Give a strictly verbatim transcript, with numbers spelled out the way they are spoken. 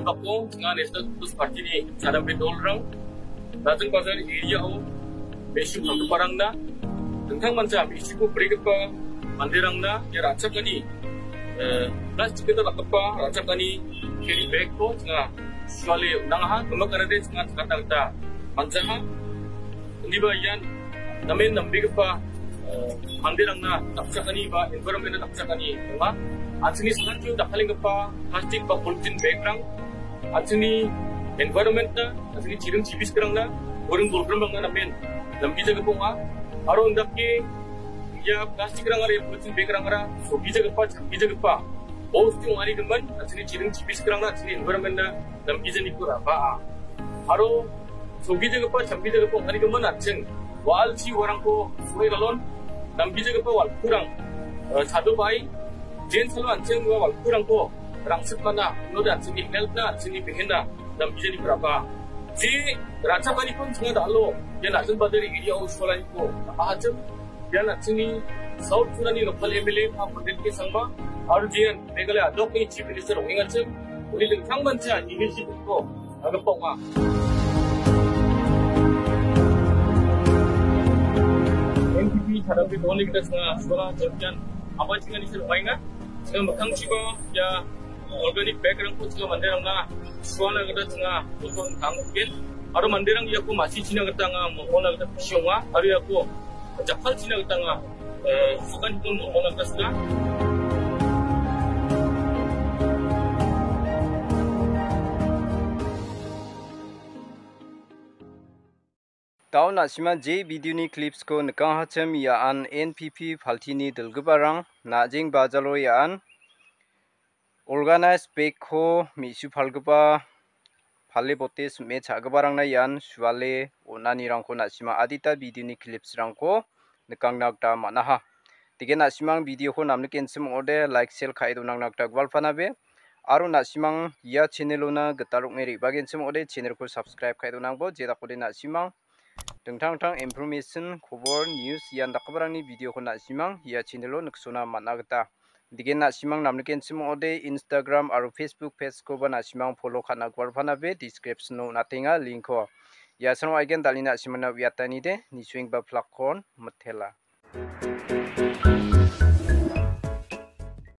Bako, nga National People's Party-ni chadambe dolrang, Rajang Bazar area-o me·su palgiparangna, dingtang manja me·suko brigipa manderangna ia ra·chakani, eh, plastik gita dakgipa ra·chakani carry bag-ko nga suale on·angaha, gimik anade nga chakatna gita manjaha. Indiba ian namen nambegipa, eh, manderangna dakchakani ba environment-na dakchakani ong·a. An·chingni sakantion dakkalenggipa plastik ba polythene bag-rang an·chingni environment-na, an·chingni chiring chibiskrangna, buring bolgrimrangna namen namgijagipa ong·a. Aro indake ia plastik-rangara, ia polythene bag-rangara sogijagipa, chamgijagipa bostu ong·anigimin, an·chingni chiring chibiskrangna, an·chingni environment-na namgijaniko ra·baa. Aro sogijagipa, chamgijagipa ong·anigimin an·ching wa·alchi uarangko so·e galon, namgijagipa walkurang, eh, chadobai, jen salo an·ching ua walkurangko rangsitmana, unode an·chingni health-na, an·chingni behenna namgijaniko ra·baa. Je ra·chakaniko an·ching da·alo ia National Bazar area-o sualaniko ra·bahachim. Ian an·chingni South Sonani local M L A pa Pondit K Sangma aro jean Meghalaya adokni Chief Minister ong·engachim, uni dingtang mancha initiative-ko ra·gipa ong·a. N P P chadambe dolni gita ching·a suala jam·ian abachiani sir ong·enga. Ching·a mikkangchiba ia organic bag-rangko ching·a manderangna sualna gita ching·a botol tanggen. Aro manderang iako masichina gita anga mol·molna gita kusi ong·a. Aro iako jakkalchina gita anga, eh, sakantikon mol·molna gita sika. Dao na·sima je video-ni clips-ko nikangahachim iaan N P P paltini dilgiparang Najeng bajalo iaan organized bag-ko me·su palgipa pale bote sim·e cha·giparangna ian suale on·anirangko na·sima adita video-ni clips-rangko nikangna gita man·aha. Degen na·simang video-ko namnikenchim ong·ode like, share ka·e donangna gita gualpanabe. Aro na·simang ia channel-ona gital ong·e re·bagenchim ong·ode channel-ko subscribe ka·e donangbo. Jedakode na·simang dingtang dingtang information, kobor, news ian dakgiparangni video-ko na·simang ia channel-o niksona man·a gita. Degen na·simang namnikenchim ong·ode Instagram aro Facebook page-koba na·simang follow ka·na gualpanabe, description-o on·atenga link-ko. Ia sano aigen dal·e na·simangna uiatanide, nisuengba plak kon mitela.